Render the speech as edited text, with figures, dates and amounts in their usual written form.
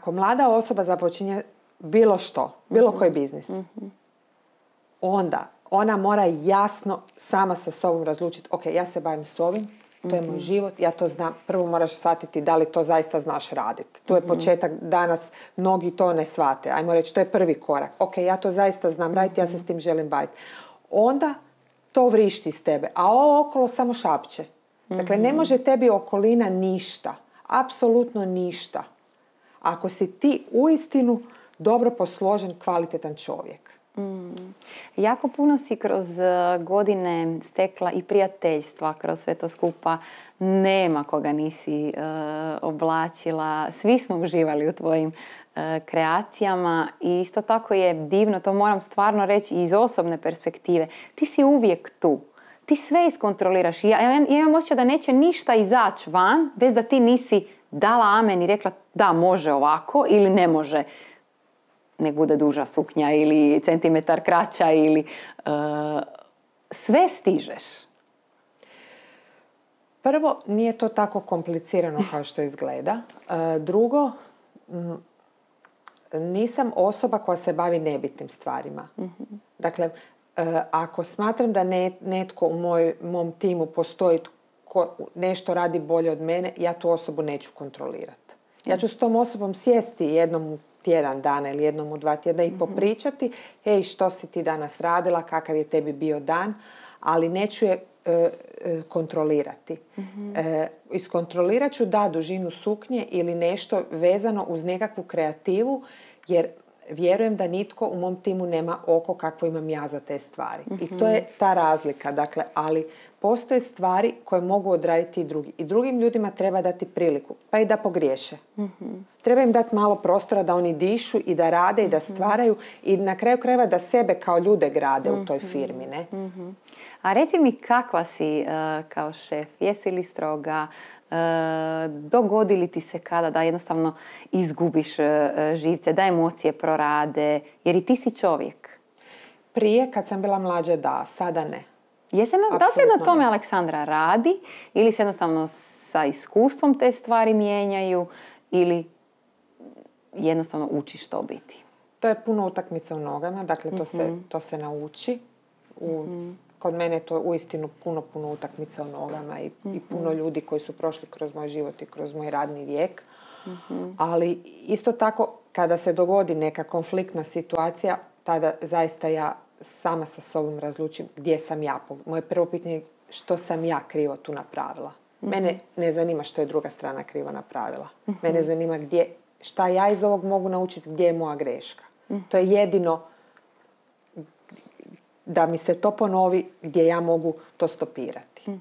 ako mlada osoba započinje bilo što, bilo koji biznis, onda ona mora jasno sama sa sobom razlučiti, ok, ja se bavim s ovim, to je moj život, ja to znam. Prvo moraš shvatiti da li to zaista znaš raditi. Tu je početak, danas mnogi to ne shvate. Ajmo reći, to je prvi korak. Ok, ja to zaista znam raditi, ja se s tim želim baviti. Onda to vrišti iz tebe, a ovo okolo samo šapće. Dakle, ne može tebi okolina ništa, apsolutno ništa, ako si ti uistinu dobro posložen, kvalitetan čovjek. Jako puno si kroz godine stekla i prijateljstva kroz sve to skupa. Nema koga nisi oblačila. Svi smo uživali u tvojim kreacijama i isto tako je divno, to moram stvarno reći iz osobne perspektive. Ti si uvijek tu. Ti sve iskontroliraš. Ja imam osjećaj da neće ništa izaći van bez da ti nisi dala amen i rekla da može ovako ili ne može. Nek bude duža suknja ili centimetar kraća ili sve stižeš. Prvo, nije to tako komplicirano kao što izgleda. Drugo, nisam osoba koja se bavi nebitnim stvarima. Dakle, ako smatram da netko u mom timu postoji ko nešto radi bolje od mene, ja tu osobu neću kontrolirati. Ja ću s tom osobom sjesti jednom u tjedan dana ili jednom u 2 tjedna i popričati, hej, što si ti danas radila, kakav je tebi bio dan, ali neću je kontrolirati. Iskontrolirat ću dužinu suknje ili nešto vezano uz nekakvu kreativu, jer vjerujem da nitko u mom timu nema oko kakvo imam ja za te stvari. I to je ta razlika. Dakle, ali postoje stvari koje mogu odraditi i drugi. I drugim ljudima treba dati priliku, pa i da pogriješe. Treba im dati malo prostora da oni dišu i da rade i da stvaraju i na kraju krajeva da sebe kao ljude grade u toj firmi. Ne? A reci mi kakva si kao šef? Jesi li stroga? Dogodi li ti se kada da jednostavno izgubiš živce, da emocije prorade? Jer i ti si čovjek. Prije, kad sam bila mlađa, da. Sada ne. Da li se na tome Aleksandra radi ili se jednostavno sa iskustvom te stvari mijenjaju ili jednostavno učiš to biti? To je puno utakmica u nogama, dakle to se nauči. Kod mene je to uistinu puno utakmica u nogama i puno ljudi koji su prošli kroz moj život i kroz moj radni vijek. Ali isto tako, kada se dogodi neka konfliktna situacija, tada zaista ja sama sa sobom razlučim gdje sam ja. Moje prvo pitanje je što sam ja krivo tu napravila. Mene ne zanima što je druga strana krivo napravila. Mene zanima šta ja iz ovog mogu naučiti, gdje je moja greška. To je jedino da mi se to ponovi gdje ja mogu to stopirati.